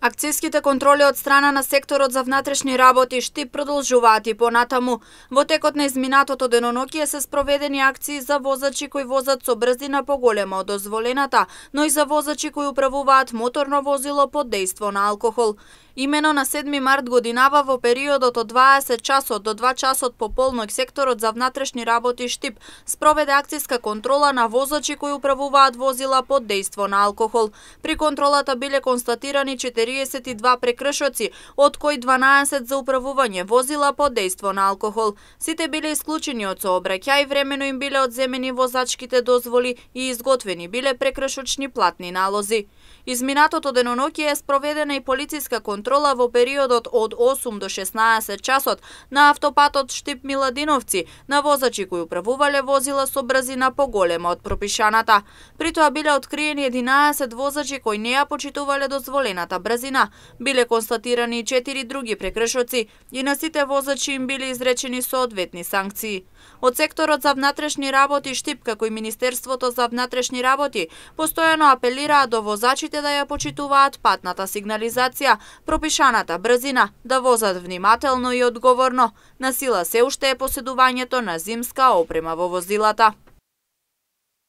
Акцијските контроли од страна на секторот за внатрешни работи Штип продолжуваат и понатаму. Во текот на изминатото деноноќие се спроведени акции за возачи кои возат со брзина поголема од дозволената, но и за возачи кои управуваат моторно возило под дејство на алкохол. Имено на 7 март годинава во периодот од 20 часот до 2 часот пополноќ секторот за внатрешни работи Штип спроведе акцијска контрола на возачи кои управуваат возила под дејство на алкохол. При контролата биле констатирани 42 прекршоци, од кои 12 за управување возила под дејство на алкохол. Сите биле исклучени од сообраќај, времено им биле одземени возачките дозволи и изготвени биле прекршочни платни налози. Изминатото деноноќие е спроведена и полициска контрола во периодот од 8 до 16 часот на автопатот Штип Миладиновци на возачи кои управувале возила со брзина поголема од пропишаната. При тоа биле откриени 11 возачи кои не ја почитувале дозволената брзина. Биле констатирани и 4 други прекршоци и на сите возачи им биле изречени соодветни санкции. Од секторот за внатрешни работи Штип, како и Министерството за внатрешни работи, постојано апелираат до возачите да ја почитуваат патната сигнализација, пропишаната брзина, да возат внимателно и одговорно. На сила се уште е поседувањето на зимска опрема во возилата.